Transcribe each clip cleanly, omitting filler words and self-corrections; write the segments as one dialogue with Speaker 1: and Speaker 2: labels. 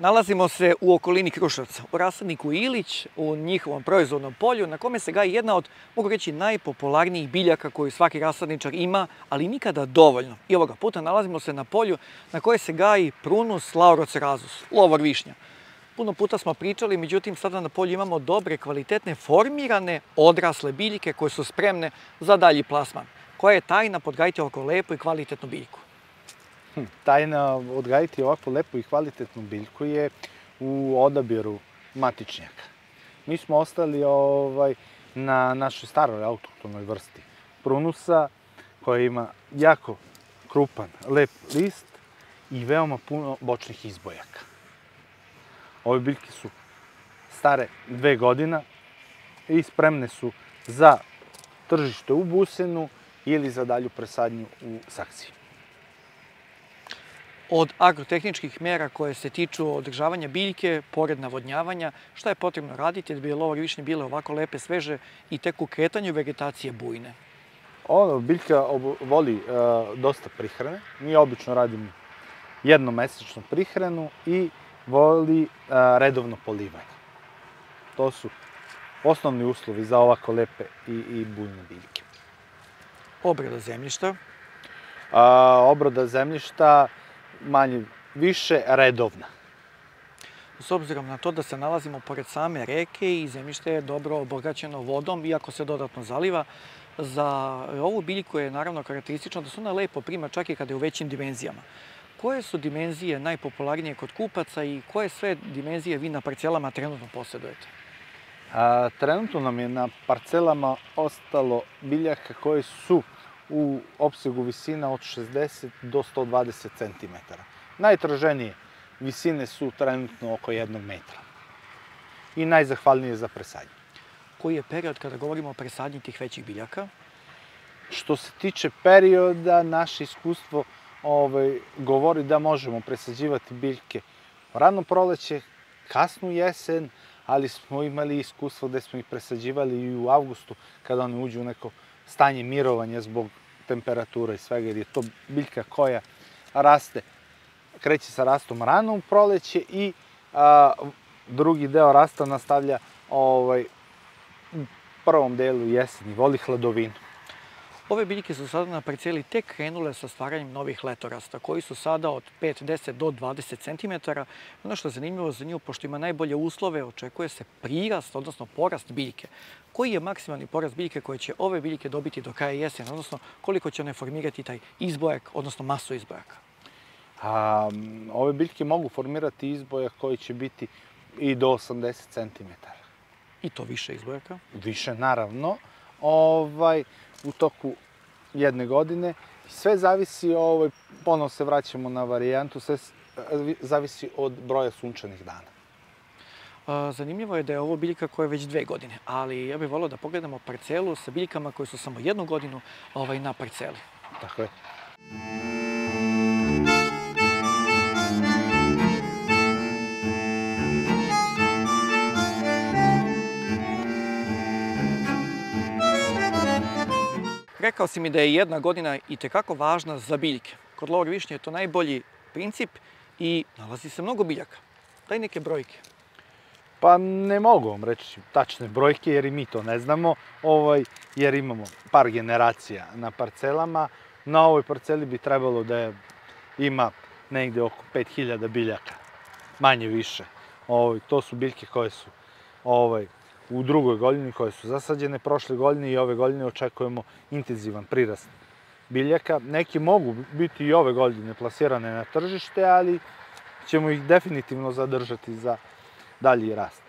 Speaker 1: Nalazimo se u okolini Kruševca, u rasadniku Ilić, u njihovom proizvodnom polju, na kome se gaji jedna od, mogu reći, najpopularnijih biljaka koju svaki rasadničar ima, ali nikada dovoljno. I ovoga puta nalazimo se na polju na koje se gaji Prunus laurocerasus, lovor višnja. Puno puta smo pričali, međutim sada na polju imamo dobre, kvalitetne, formirane, odrasle biljke koje su spremne za dalji plasman. Koja je tajna podgajiti ovako lepu i kvalitetnu biljku?
Speaker 2: Tajna odgajiti ovakvu lepu i kvalitetnu biljku je u odabiru matičnjaka. Mi smo ostali na našoj staroj autohtonoj vrsti Prunusa, koja ima jako krupan, lep list i veoma puno bočnih izbojaka. Ove biljke su stare 2 godine i spremne su za tržište u busenu ili za dalju presadnju u saksiji.
Speaker 1: Od agrotehničkih mera koje se tiču održavanja biljke, pored navodnjavanja, šta je potrebno raditi da bi lovor višnje bile ovako lepe, sveže i tek u kretanju vegetacije bujne?
Speaker 2: Biljka voli dosta prihrane. Mi obično radimo jednomesečno prihranu i voli redovno polivanje. To su osnovni uslovi za ovako lepe i bujne biljke.
Speaker 1: Obrada zemljišta?
Speaker 2: Obrada zemljišta manje više redovna.
Speaker 1: S obzirom na to da se nalazimo pored same reke i zemljište je dobro obogaćeno vodom, iako se dodatno zaliva, za ovu biljku je naravno karakteristično da se ona lepo prima čak i kada je u većim dimenzijama. Koje su dimenzije najpopularnije kod kupaca i koje sve dimenzije vi na parcelama trenutno posjedujete?
Speaker 2: Trenutno nam je na parcelama ostalo biljaka koje su u opsegu visina od 60 do 120 cm. Najtraženije visine su trenutno oko 1 metra. I najzahvalnije za presadnje.
Speaker 1: Koji je period kada govorimo o presadnji tih većih biljaka?
Speaker 2: Što se tiče perioda, naše iskustvo govori da možemo presađivati biljke rano proleće, kasnu jesen, ali smo imali iskustvo gde smo ih presađivali i u avgustu, kada oni uđu u neko stanje mirovanja zbog temperatura i svega, jer je to biljka koja raste, kreće sa rastom rano u proleće i drugi deo rasta nastavlja u prvom delu jeseni, voli hladovinu.
Speaker 1: Ove biljke su sada na parceli tek krenule sa stvaranjem novih letorasta, koji su sada od 5, 10 do 20 cm. Ono što je zanimljivo za nju, pošto ima najbolje uslove, očekuje se prirast, odnosno porast biljke. Koji je maksimalni porast biljke koje će ove biljke dobiti do kraja jesena, odnosno koliko će one formirati taj izbojak, odnosno masu izbojaka?
Speaker 2: Ove biljke mogu formirati izbojak koji će biti i do 80 cm.
Speaker 1: I to više izbojaka?
Speaker 2: Više, naravno. U toku 1 godine. Sve zavisi, ponovno se vraćamo na varijantu, sve zavisi od broja sunčanih dana.
Speaker 1: Zanimljivo je da je ovo biljka koja je već 2 godine, ali ja bih volio da pogledamo parcelu sa biljkama koje su samo 1 godinu na parceli.
Speaker 2: Tako je.
Speaker 1: Rekao si mi da je 1 godina itekako važna za biljke. Kod lovor višnje je to najbolji princip i nalazi se mnogo biljaka. Daj neke brojke.
Speaker 2: Pa ne mogu vam reći tačne brojke jer i mi to ne znamo, jer imamo par generacija na parcelama. Na ovoj parceli bi trebalo da ima negde oko 5000 biljaka, manje više. To su biljke koje su u drugoj godini, koje su zasađene prošle godine i ove godine očekujemo intenzivan prirast biljaka. Neki mogu biti i ove godine plasirane na tržište, ali ćemo ih definitivno zadržati za dalji rast.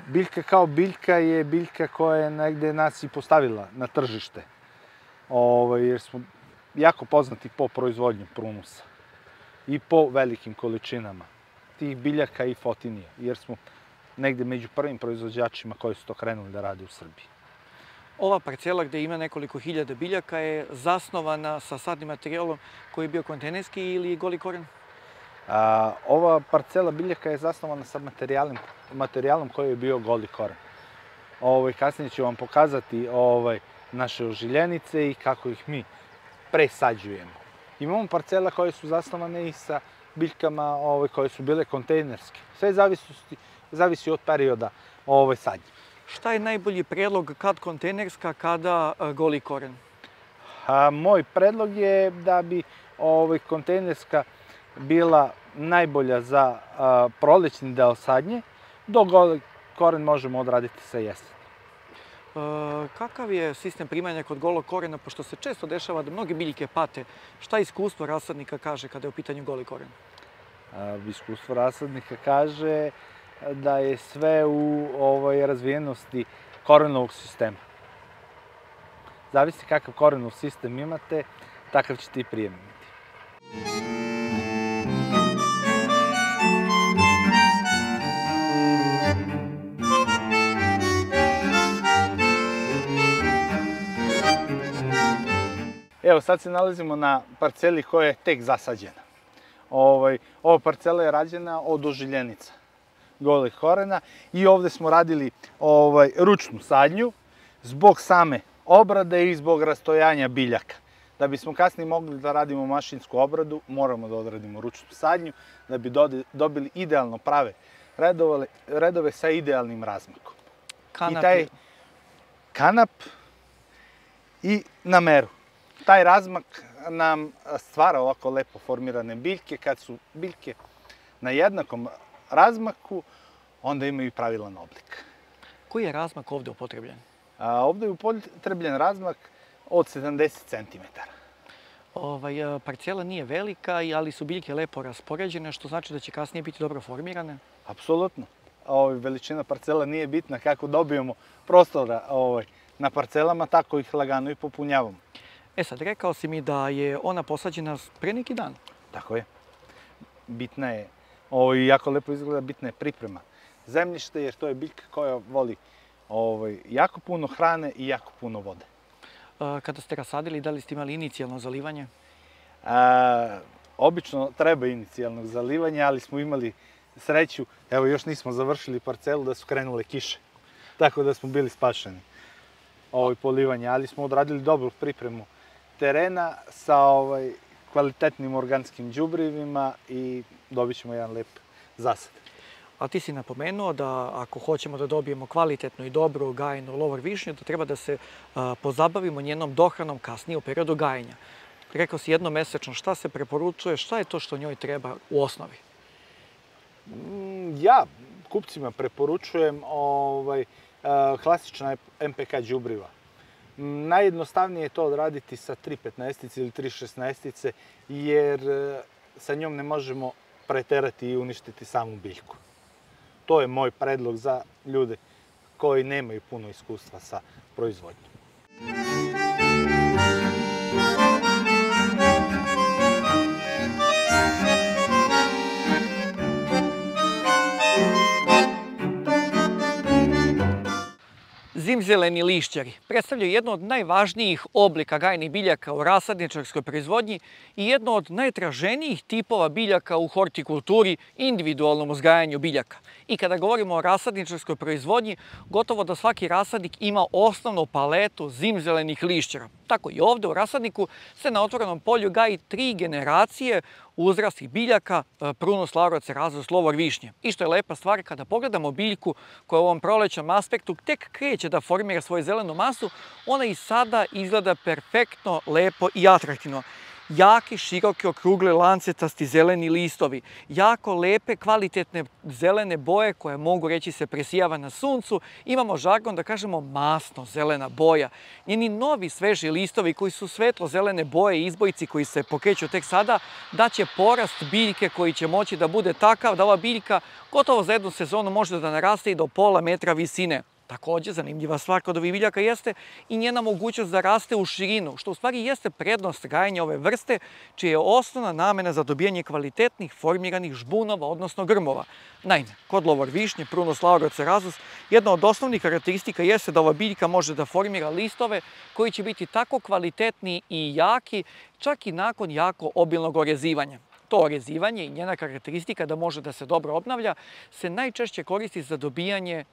Speaker 2: Biljka kao biljka je biljka koja je negde nas i postavila na tržište, jer smo jako poznati po proizvodnju Prunusa i po velikim količinama tih biljaka i fotinija, jer smo negde među prvim proizvođačima koji su to krenuli da rade u Srbiji.
Speaker 1: Ova parcela gde ima nekoliko hiljada biljaka je zasnovana sa sadnim materijalom koji je bio kontejnerski ili goli koren?
Speaker 2: Ova parcela biljaka je zasnovana sa materijalom koji je bio goli koren. Kasnije ću vam pokazati naše ožiljenice i kako ih mi presađujemo. Imamo parcela koje su zasnovane i sa biljkama koje su bile kontejnerske. Sve zavisi od perioda sadnje.
Speaker 1: Šta je najbolji predlog, kad kontejnerska, kada goli koren?
Speaker 2: Moj predlog je da bi kontejnerska bila najbolja za prolećni deo sadnje, dok goli koren možemo odraditi sa jeseni.
Speaker 1: Kakav je sistem primanja kod golog korena, pošto se često dešava da mnoge biljke pate? Šta iskustvo rasadnika kaže kada je u pitanju goli koren?
Speaker 2: Iskustvo rasadnika kaže da je sve u razvijenosti korenovog sistema. Zavisi kakav korenov sistem imate, takav ćete i prijem imati. Evo, sad se nalazimo na parceli koja je tek zasađena. Ova parcela je rađena od ožiljenica golih korena i ovde smo radili ručnu sadnju zbog same obrade i zbog rastojanja biljaka. Da bismo kasnije mogli da radimo mašinsku obradu, moramo da odradimo ručnu sadnju da bi dobili idealno prave redove sa idealnim razmakom.
Speaker 1: Kanap
Speaker 2: I taj kanap i na meru. Taj razmak nam stvara ovako lepo formirane biljke. Kad su biljke na jednakom razmaku, onda imaju i pravilan oblik.
Speaker 1: Koji je razmak ovde upotrebljen?
Speaker 2: Ovde je upotrebljen razmak od 70 cm.
Speaker 1: Parcela nije velika, ali su biljke lepo raspoređene, što znači da će kasnije biti dobro formirane?
Speaker 2: Apsolutno. Veličina parcela nije bitna. Kako dobijemo prostora na parcelama, tako ih lagano i popunjavamo.
Speaker 1: Sad, rekao si mi da je ona posađena pre neki dan.
Speaker 2: Tako je. Bitna je, jako lepo izgleda, bitna je priprema zemljišta, jer to je biljka koja voli jako puno hrane i jako puno vode.
Speaker 1: Kada ste rasadili, da li ste imali inicijalno zalivanje?
Speaker 2: Obično treba inicijalnog zalivanja, ali smo imali sreću, evo još nismo završili parcelu, da su krenule kiše. Tako da smo bili spašeni polivanja, ali smo odradili dobru pripremu terena sa kvalitetnim organskim đubrivima i dobit ćemo jedan lep zasad.
Speaker 1: A ti si napomenuo da ako hoćemo da dobijemo kvalitetnu i dobru gajenu lovor višnju, da treba da se pozabavimo njenom dohranom kasnije u periodu gajenja. Rekao si jednomesečno, šta se preporučuje, šta je to što njoj treba u osnovi?
Speaker 2: Ja kupcima preporučujem klasična MPK đubriva. Najjednostavnije je to odraditi sa 3,15 ili 3,16, jer sa njom ne možemo preterati i uništiti samu biljku. To je moj predlog za ljude koji nemaju puno iskustva sa proizvodnjom.
Speaker 1: Zimzeleni lišćari predstavljaju jedno od najvažnijih oblika gajnih biljaka u rasadničarskoj proizvodnji i jedno od najtraženijih tipova biljaka u hortikulturi i individualnom uzgajanju biljaka. I kada govorimo o rasadničarskoj proizvodnji, gotovo da svaki rasadnik ima osnovnu paletu zimzelenih lišćara. Tako i ovde u rasadniku se na otvorenom polju gaji 3 generacije uzrastih biljaka Prunus laurocerasus lovor višnje. I što je lepa stvar, kada pogledamo biljku koja u ovom prolećnom aspektu tek kreće da formira svoju zelenu masu, ona i sada izgleda perfektno, lepo i atraktivno. Jaki, široki, okrugli, lancetasti zeleni listovi, jako lepe, kvalitetne zelene boje koje mogu reći se presijava na suncu. Imamo žargon da kažemo masno zelena boja. Njeni novi sveži listovi koji su svetlo zelene boje i izbojci koji se pokreću tek sada daće porast biljke koji će moći da bude takav da ova biljka gotovo za jednu sezonu može da naraste i do pola metra visine. Takođe, zanimljiva stvar kod ovih biljaka jeste i njena mogućnost da raste u širinu, što u stvari jeste prednost gajenja ove vrste, čija je osnovna namena za dobijanje kvalitetnih formiranih žbunova, odnosno grmova. Naime, kod lovor višnje, Prunus laurocerasus, jedna od osnovnih karakteristika jeste da ova biljka može da formira listove koji će biti tako kvalitetni i jaki, čak i nakon jako obilnog orezivanja. To orezivanje i njena karakteristika da može da se dobro obnavlja se najčešće koristi za dobijanje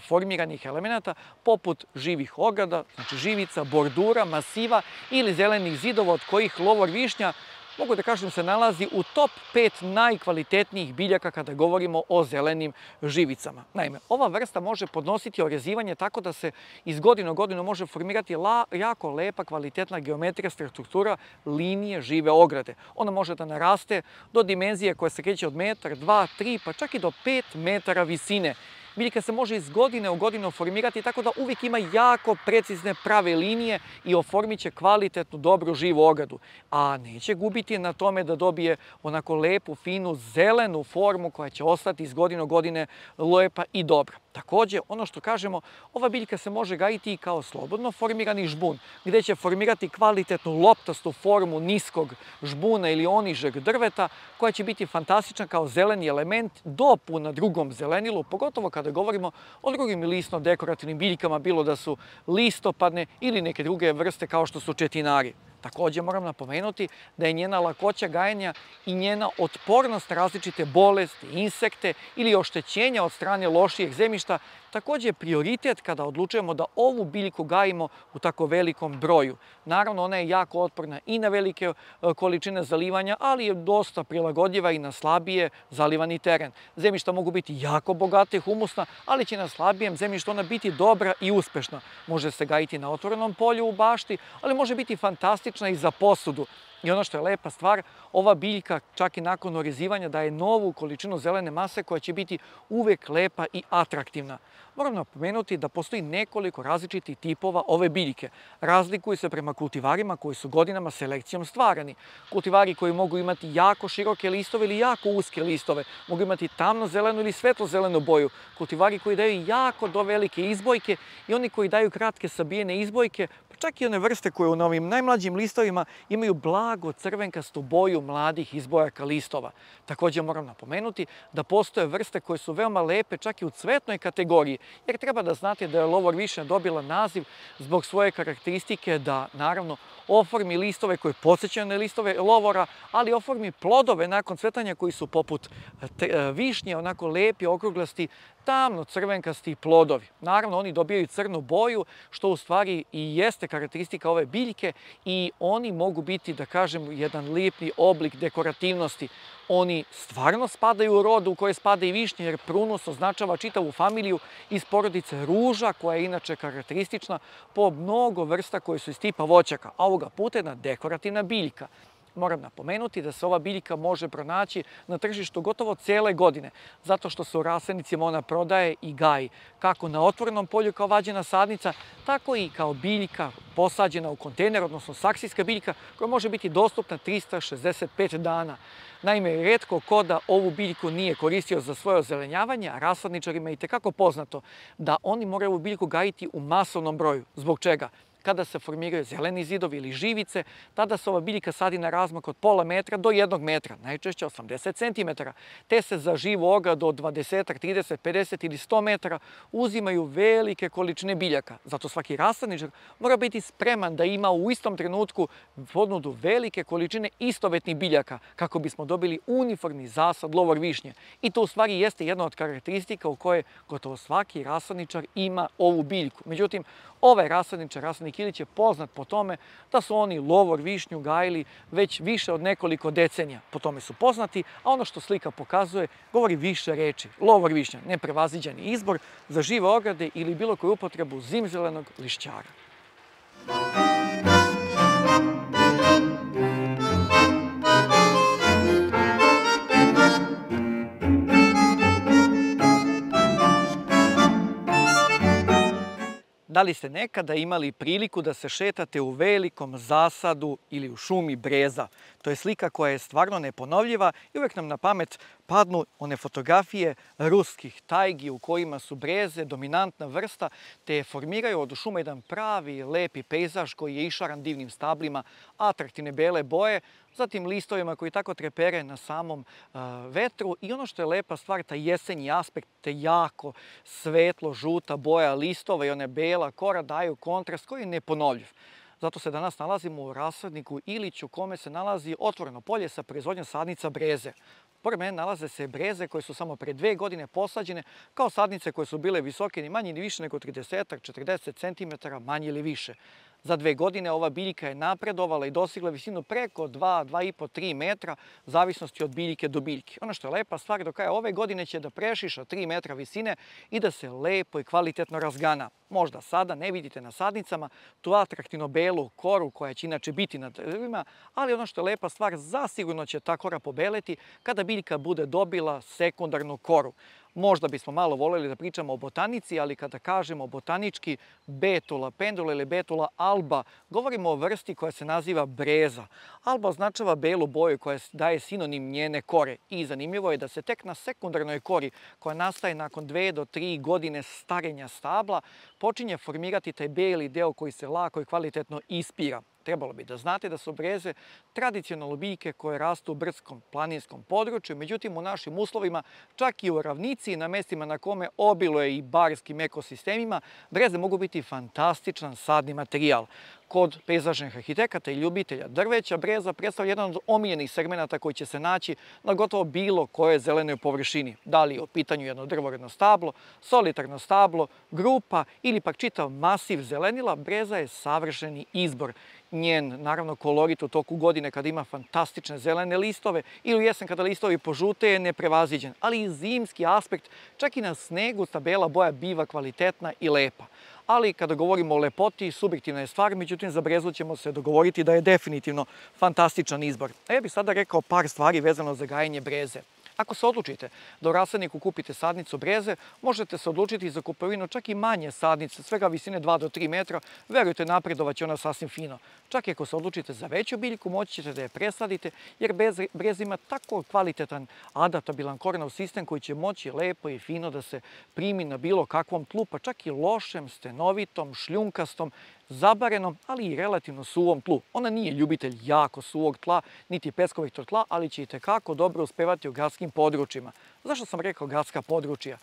Speaker 1: formiranih elemenata poput živih ograda, znači živica, bordura, masiva ili zelenih zidova od kojih lovor višnja mogu da kažem se nalazi u top 5 najkvalitetnijih biljaka kada govorimo o zelenim živicama. Naime, ova vrsta može podnositi orezivanje tako da se iz godine u godinu može formirati jako lepa, kvalitetna geometrijska struktura linije žive ograde. Ona može da naraste do dimenzije koja se kreće od metar, 2, 3, pa čak i do 5 metara visine. Biljka se može iz godine u godinu formirati tako da uvijek ima jako precizne prave linije i oformit će kvalitetnu, dobru, živu ogradu. A neće gubiti na tome da dobije onako lepu, finu, zelenu formu koja će ostati iz godine u godine lepa i dobra. Također, ono što kažemo, ova biljka se može gajiti i kao slobodno formirani žbun, gdje će formirati kvalitetnu loptastu formu niskog žbuna ili onižeg drveta, koja će biti fantastična kao zeleni element dopuna drugom zelenilu, pogotovo kada govorimo o drugim listno-dekorativnim biljkama, bilo da su listopadne ili neke druge vrste kao što su četinari. Također moram napomenuti da je njena lakoća gajenja i njena otpornost na različite bolesti, insekte ili oštećenja od strane lošijeg zemljišta također prioritet kada odlučujemo da ovu biljku gajimo u tako velikom broju. Naravno, ona je jako otporna i na velike količine zalivanja, ali je dosta prilagodljiva i na slabije zalivani teren. Zemljišta mogu biti jako bogate, humusna, ali će na slabijem zemljištu ona biti dobra i uspešna. Može se gajiti na otvorenom polju u bašti, ali može biti fantastična i za posudu. I ono što je lepa stvar, ova biljka čak i nakon orezivanja daje novu količinu zelene mase koja će biti uvijek lepa i atraktivna. Moram napomenuti da postoji nekoliko različitih tipova ove biljke. Razlikuju se prema kultivarima koji su godinama selekcijom stvarani. Kultivari koji mogu imati jako široke listove ili jako uske listove, mogu imati tamno-zelenu ili svetlo-zelenu boju. Kultivari koji daju jako do velike izbojke i oni koji daju kratke sabijene izbojke, pa čak i one vrste koje u ovim najmlađim listovima imaju blago crvenkastu boju mladih izbojaka listova. Također moram napomenuti da postoje vrste koje su veoma lepe čak i u cvetnoj kategoriji, jer treba da znate da je lovor višnja dobila naziv zbog svoje karakteristike da, naravno, oformi listove koje podsjećaju na listove lovora, ali oformi plodove nakon cvetanja koji su poput višnje, onako lepi, okruglasti, tamno crvenkasti plodovi. Naravno, oni dobijaju crnu boju, što u stvari i jeste karakteristika ove biljke i oni mogu biti, da kažem, jedan lijepni oblik dekorativnosti. Oni stvarno spadaju u rod u koje spada i višnje, jer prunus označava čitavu familiju iz porodice ruža, koja je inače karakteristična po mnogo vrsta koje su iz tipa voćaka, a ovoga puta jedna dekorativna biljka. Moram napomenuti da se ova biljka može pronaći na tržištu gotovo cijele godine, zato što se u rasadnicima ona prodaje i gaji, kako na otvorenom polju kao vađena sadnica, tako i kao biljka posađena u kontejner, odnosno saksijska biljka, koja može biti dostupna 365 dana. Naime, retko ko da ovu biljku nije koristio za svoje ozelenjavanje, a rasadničarima je itekako poznato da oni moraju ovu biljku gajiti u masovnom broju. Zbog čega? Kada se formiraju zeleni zidovi ili živice, tada se ova biljka sadi na razmak od pola metra do 1 metra, najčešće 80 cm, te se za živu ogradu od 20, 30, 50 ili 100 metara uzimaju velike količine biljaka. Zato svaki rasadničar mora biti spreman da ima u istom trenutku ponudu velike količine istovetnih biljaka kako bismo dobili uniformni zasad lovor višnje. I to u stvari jeste jedna od karakteristika u kojoj gotovo svaki rasadničar ima ovu biljku. Međutim, ovaj rasadničar, rasadnik Ilić, je poznat po tome da su oni lovor višnju gajili već više od nekoliko decenija. Po tome su poznati, a ono što slika pokazuje govori više reči. Lovor višnja, neprevaziđeni izbor za žive ograde ili bilo koju upotrebu zimzelenog lišćara. Da li ste nekada imali priliku da se šetate u velikom zasadu ili u šumi breza? To je slika koja je stvarno neponovljiva i uvijek nam na pamet padnu one fotografije ruskih tajgi u kojima su breze dominantna vrsta, te formiraju od šuma jedan pravi lepi pejzaž koji je išaran divnim stablima, atraktivne bele boje, zatim listovima koji tako trepere na samom vetru i ono što je lepa stvar, taj jesenji aspekt, te jako svetlo žuta boja listova i one bela kora daju kontrast koji je neponovljiv. Zato se danas nalazimo u rasadniku Ilić u kome se nalazi otvoreno polje sa proizvodnjom sadnica breze. Pored mene nalaze se breze koje su samo pre 2 godine posađene kao sadnice koje su bile visoke ni manje ni više nego 30-40 cm, manje ili više. Za 2 godine ova biljka je napredovala i dostigla visinu preko 2, 2,5, 3 metra, u zavisnosti od biljke do biljke. Ono što je lepa stvar, do kraja ove godine će da prešiša 3 metra visine i da se lepo i kvalitetno razgana. Možda sada ne vidite na sadnicama tu atraktivno belu koru koja će inače biti na drvima, ali ono što je lepa stvar, zasigurno će ta kora pobeleti kada biljka bude dobila sekundarnu koru. Možda bismo malo voljeli da pričamo o botanici, ali kada kažemo botanički Betula pendula ili Betula alba, govorimo o vrsti koja se naziva breza. Alba označava belu boju koja daje sinonim njene kore i zanimljivo je da se tek na sekundarnoj kori, koja nastaje nakon 2 do 3 godine starenja stabla, počinje formirati taj beli deo koji se lako i kvalitetno ispira. Trebalo bi da znate da su breze tradicionalno biljke koje rastu u brdskom planinskom području, međutim u našim uslovima, čak i u ravnici i na mestima na kome obiluje i barskim ekosistemima, breze mogu biti fantastičan sadni materijal. Kod pejzažnih arhitekata i ljubitelja drveća, breza predstavlja jedan od omiljenih segmenata koji će se naći na gotovo bilo kojoj zelenoj površini. Da li je u pitanju jedno drvoredno stablo, solitarno stablo, grupa ili pak čitav masiv zelenila, breza je savršeni izbor. Njen, naravno, kolorit u toku godine kada ima fantastične zelene listove ili u jesen kada listovi požute je neprevaziđen, ali i zimski aspekt, čak i na snegu ta bela boja biva kvalitetna i lepa. Ali kada govorimo o lepoti, subjektivna je stvar, međutim za brezu ćemo se dogovoriti da je definitivno fantastičan izbor. A ja bih sada rekao par stvari vezano za gajenje breze. Ako se odlučite da u rasadniku kupite sadnicu breze, možete se odlučiti za kupovinu čak i manje sadnice, svega visine 2 do 3 metra, verujte, napredovaće ona sasvim fino. Čak i ako se odlučite za veću biljku, moći ćete da je presadite, jer breza ima tako kvalitetan adaptabilan korenov sistem koji će moći lepo i fino da se primi na bilo kakvom tlu, pa čak i lošem, stenovitom, šljunkastom, zabarenom, ali i relativno suvom tlu. Ona nije ljubitelj jako suvog tla, niti peskovitog tla, ali će itekako dobro uspevati u gradskim područjima. Zašto sam rekao gradska područja?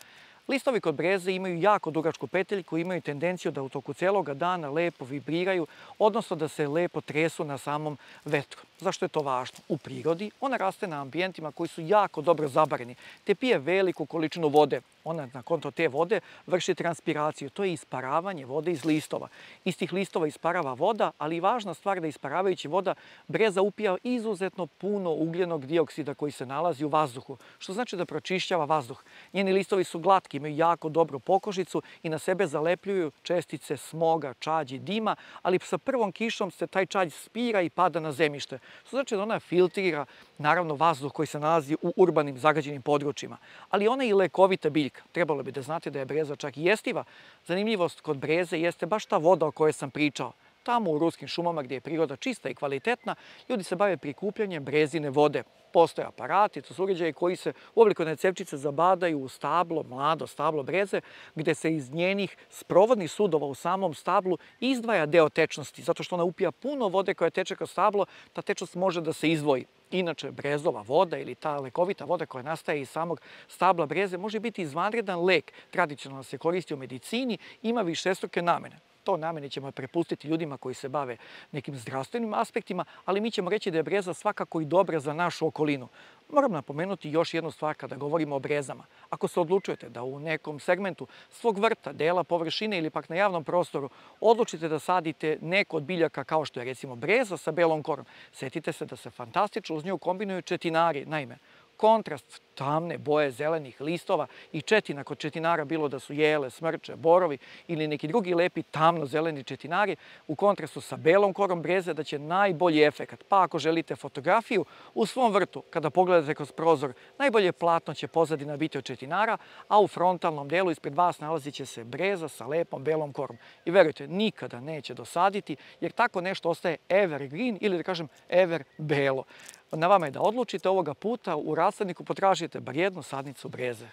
Speaker 1: Listovi kod breze imaju jako dugačku peteljku, imaju tendenciju da u toku celoga dana lepo vibriraju, odnosno da se lepo tresu na samom vetru. Zašto je to važno? U prirodi ona raste na ambijentima koji su jako dobro zabareni, te pije veliku količinu vode. Ona na konto te vode vrši transpiraciju, to je isparavanje vode iz listova. Iz tih listova isparava voda, ali i važna stvar da isparavajući voda breza upija izuzetno puno ugljenog dioksida koji se nalazi u vazduhu, što znači da pročišćava vazduh. Njeni listovi su glatki, imaju jako dobru pokožicu i na sebe zalepljuju čestice smoga, čađi, dima, ali sa prvom kišom se taj čađ spira i pada na zemljište, što znači da ona filtrira, naravno, vazduh koji se nalazi u urbanim zagađenim područjima. Ali ona je i lekovita biljka. Trebalo bi da znate da je breza čak i jestiva. Zanimljivost kod breze jeste baš ta voda o kojoj sam pričao. Tamo u ruskim šumama gdje je priroda čista i kvalitetna, ljudi se bave prikupljanjem brezine vode. Postoje aparati, to su uređaji koji se u obliku jedne cevčice zabadaju u stablo, mlado stablo breze, gdje se iz njenih sprovodnih sudova u samom stablu izdvaja deo tečnosti, zato što ona upija puno vode koja teče kroz stablo, ta tečnost može da se izdvoji. Inače, brezova voda ili ta lekovita voda koja nastaje iz samog stabla breze može biti izvanredan lek. Tradicionalno se koristi u medicini, ima višestruke namene. To namene ćemo prepustiti ljudima koji se bave nekim zdravstvenim aspektima, ali mi ćemo reći da je breza svakako i dobra za našu okolinu. Moram napomenuti još jednu stvar kada govorimo o brezama. Ako se odlučujete da u nekom segmentu svog vrta, dela površine ili pak na javnom prostoru odlučite da sadite neko od biljaka kao što je recimo breza sa belom korom, setite se da se fantastično uz nju kombinuju četinari. Naime, kontrast tamne boje zelenih listova i četina kod četinara, bilo da su jele, smrče, borovi ili neki drugi lepi tamno-zeleni četinari, u kontrastu sa belom korom breze da će najbolji efekat. Pa ako želite fotografiju u svom vrtu, kada pogledate kroz prozor, najbolje platno će pozadina biti od četinara, a u frontalnom delu ispred vas nalazit će se breza sa lepom belom korom. I verujte, nikada neće dosaditi, jer tako nešto ostaje evergreen ili da kažem ever belo. Na vama je da odlučite ovoga puta, u rasadniku potražite bar jednu sadnicu breze.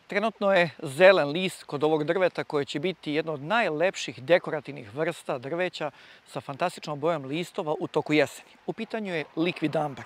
Speaker 1: Trenutno je zelen list kod ovog drveta koje će biti jedno od najlepših dekorativnih vrsta drveća sa fantastičnom bojom listova u toku jeseni. U pitanju je liquidambar.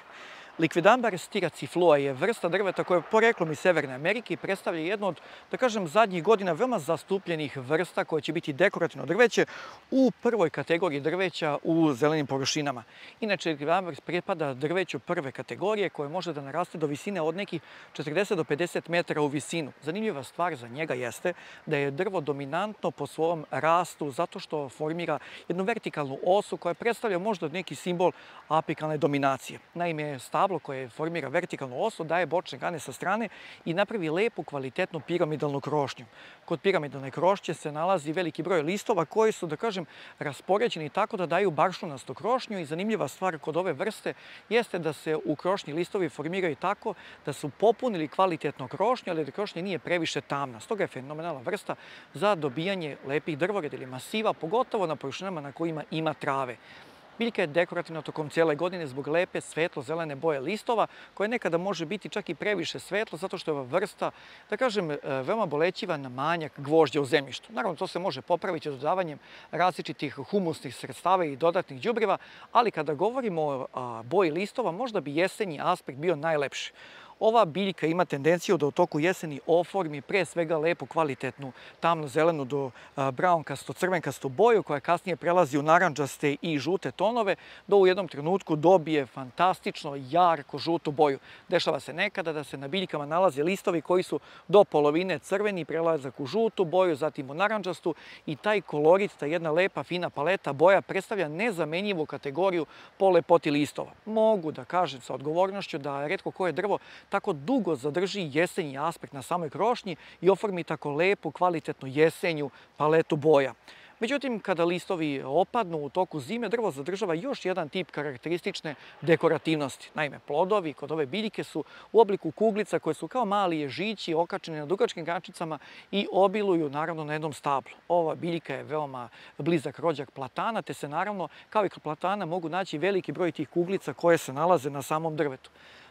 Speaker 1: Liquidambar styraciflua je vrsta drveta koja je poreklom iz Severne Amerike i predstavlja jednu od, da kažem, zadnjih godina veoma zastupljenih vrsta koja će biti dekorativno drveće u prvoj kategoriji drveća u zelenim površinama. Inače, liquidambar pripada drveću prve kategorije koje može da naraste do visine od nekih 40 do 50 metara u visinu. Zanimljiva stvar za njega jeste da je drvo dominantno po svom rastu zato što formira jednu vertikalnu osu koja predstavlja možda neki simbol apikalne dominacije. Naime, stablo koje formira vertikalnu osu daje bočne grane sa strane i napravi lepu, kvalitetnu piramidalnu krošnju. Kod piramidalne krošnje se nalazi veliki broj listova koji su, da kažem, raspoređeni tako da daju baršunastu krošnju i zanimljiva stvar kod ove vrste jeste da se u krošnji listovi formiraju tako da su popunili kvalitetno krošnju, ali da krošnja nije previše tamna. Stoga je fenomenalna vrsta za dobijanje lepih drvoreda ili masiva, pogotovo na površinama na kojima ima trave. Biljka je dekorativna tokom cijele godine zbog lepe svetlo-zelene boje listova, koja nekada može biti čak i previše svetlo, zato što je ova vrsta, da kažem, veoma bolećiva na manjak gvožđa u zemljištu. Naravno, to se može popraviti dodavanjem različitih humusnih sredstava i dodatnih đubriva, ali kada govorimo o boji listova, možda bi jesenji aspekt bio najlepši. Ova biljka ima tendenciju da u toku jeseni oformi pre svega lepu, kvalitetnu, tamno-zelenu do braunkasto-crvenkastu boju koja kasnije prelazi u narandžaste i žute tonove, do u jednom trenutku dobije fantastično jarko žutu boju. Dešava se nekada da se na biljkama nalaze listovi koji su do polovine crveni, prelazak u žutu boju, zatim u narandžastu i taj kolorit, ta jedna lepa, fina paleta boja predstavlja nezamenjivu kategoriju po lepoti listova. Mogu da kažem sa odgovornošću da retko koje drvo tako dugo zadrži jesenji aspekt na samoj krošnji i oformi tako lepu, kvalitetnu jesenju paletu boja. Međutim, kada listovi opadnu u toku zime, drvo zadržava još jedan tip karakteristične dekorativnosti. Naime, plodovi kod ove biljke su u obliku kuglica koje su kao mali ježići okačeni na dugačkim grančicama i obiluju naravno na jednom stablu. Ova biljka je veoma blizak rođak platana, te se naravno kao i kod platana mogu naći veliki broj tih kuglica koje se nalaze na samom drvetu.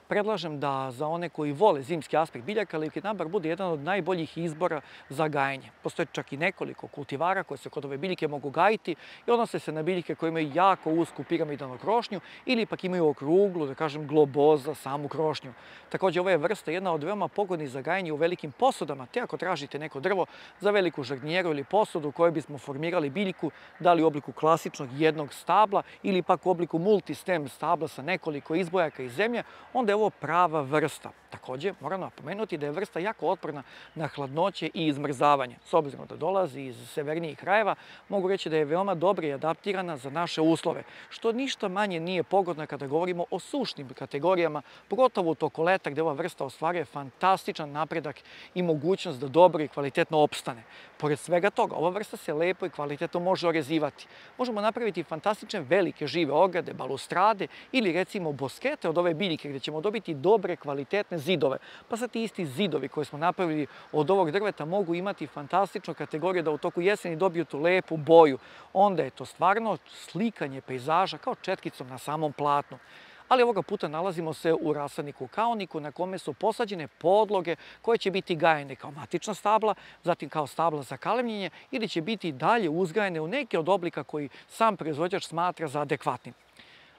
Speaker 1: Predlažem da za one koji vole zimski aspekt biljaka, liquidambar bude jedan od najboljih izbora za gajenje. Postoje čak i nekoliko kultivara koje se kod ove biljke mogu gajiti i odnose se na biljke koje imaju jako usku piramidalnu krošnju ili pak imaju okruglu, da kažem, globoza, samu krošnju. Također, ova je vrsta jedna od veoma pogodnih za gajanje u velikim posudama, te ako tražite neko drvo za veliku žardinjeru ili posudu u kojoj bismo formirali biljku, da li u obliku klasičnog jednog stabla ili pak u obliku multistem stabla sa nekoliko izbojaka iz zemlje, onda je ovo prava vrsta. Također, moram napomenuti da je vrsta jako otporna na hladnoće i izmrzavanje. S obzirom da dolazi iz severnijih krajeva, mogu reći da je veoma dobro i adaptirana za naše uslove, što ništa manje nije pogodno kada govorimo o sušnim kategorijama, pogotovo u toku leta gdje ova vrsta ostvaruje fantastičan napredak i mogućnost da dobro i kvalitetno opstane. Pored svega toga, ova vrsta se lepo i kvalitetno može orezivati. Možemo napraviti fantastične velike žive ograde, balustrade ili recimo boskete od ove biljke gdje ćemo dobiti dobre, kvalitetne zidove. Pa sad ti isti zidovi koje smo napravili od ovog drveta mogu imati fantastičnu kategoriju da u toku jeseni dobiju tu lepu boju. Onda je to stvarno slikanje pejzaža kao četkicom na samom platnu. Ali ovoga puta nalazimo se u rasadniku kaoniku na kome su posađene podloge koje će biti gajene kao matična stabla, zatim kao stabla za kalemljenje ili će biti dalje uzgajene u neke od oblika koji sam proizvođač smatra za adekvatnim.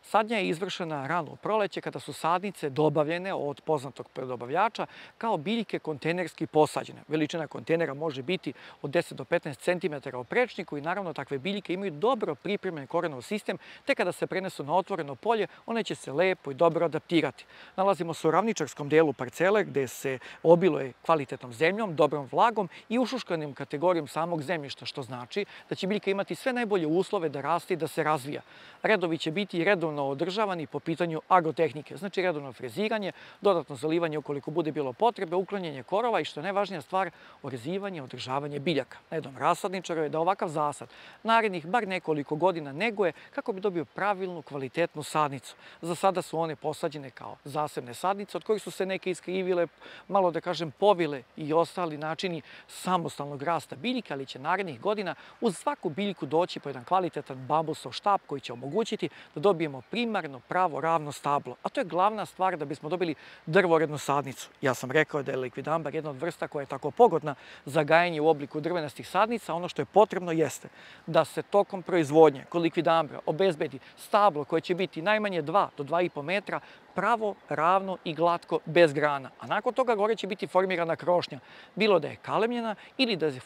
Speaker 1: Sadnja je izvršena rano u proleće kada su sadnice dobavljene od poznatog predobavljača kao biljke kontejnerski posađene. Veličina kontejnera može biti od 10 do 15 cm u prečniku i naravno takve biljke imaju dobro pripremljen korenov sistem, te kada se prenesu na otvoreno polje, one će se lepo i dobro adaptirati. Nalazimo se u ravničarskom delu parcele gde se obiluje kvalitetnom zemljom, dobrom vlagom i ušuškanim kategorijom samog zemljišta, što znači da će biljka imati sve najbolje uslove da raste i da se razvija. Redovi će biti redovno održavani po pitanju agrotehnike, znači redovno freziranje, dodatno zalivanje ukoliko bude bilo potrebe, uklanjanje korova i što je najvažnija stvar, orezivanje, održavanje biljaka. Na jednom rasadničaru je da ovakav zasad narednih bar nekoliko godina neguje kako bi dobio pravilnu, kvalitetnu sadnicu. Za sada su one posađene kao zasebne sadnice od kojih su se neke iskrivile, malo da kažem povile i ostali načini samostalnog rasta biljka, ali će narednih godina uz svaku biljku doći po jedan kvalitetan bambusov štap koji će omogućiti da dobijemo primarno pravo ravno stablo, a to je glavna stvar da bismo dobili drvorednu sadnicu. Ja sam rekao da je likvidambar jedna od vrsta koja je tako pogodna za gajanje u obliku drvenastih sadnica. Ono što je potrebno jeste da se tokom proizvodnje kod likvidambra obezbedi stablo koje će biti najmanje 2 do 2,5 metra, pravo, ravno i glatko, bez grana. A nakon toga gore će biti formirana krošnja, bilo da je kalemljena ili da je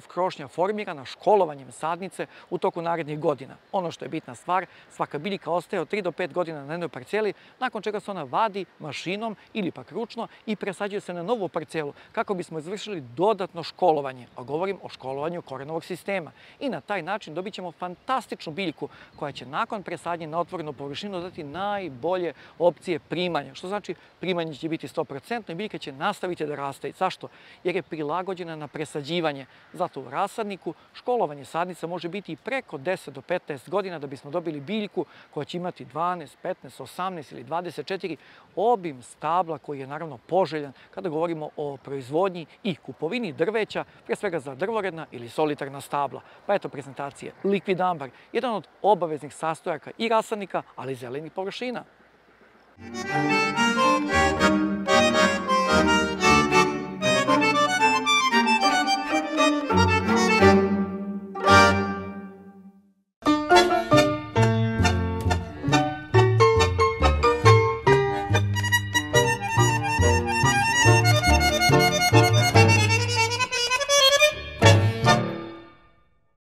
Speaker 1: krošnja formirana školovanjem sadnice u toku narednih godina. Ono što je bitna stvar, svaka biljka ostaje od 3 do 5 godina na jednoj parceli, nakon čega se ona vadi mašinom ili pak ručno i presađuje se na novu parcelu kako bismo izvršili dodatno školovanje, a govorim o školovanju korenovog sistema. I na taj način dobit ćemo fantastičnu biljku koja će nakon presadnje na otvorenu površinu dati najbolje opcije primanja, što znači primanje će biti 100% i biljka će nastaviti da raste. Zašto? Jer je prilagođena na presađivanje. Zato u rasadniku školovanje sadnica može biti i preko 10 do 15 godina da bismo dobili biljku koja će imati 12, 15, 18 ili 24 obim stabla koji je naravno poželjan kada govorimo o proizvodnji i kupovini drveća, pre svega za drvoredna ili solitarna stabla. Pa eto prezentacije likvidambar, jedan od obaveznih sastojaka i rasadnika, ali i zelenih površina.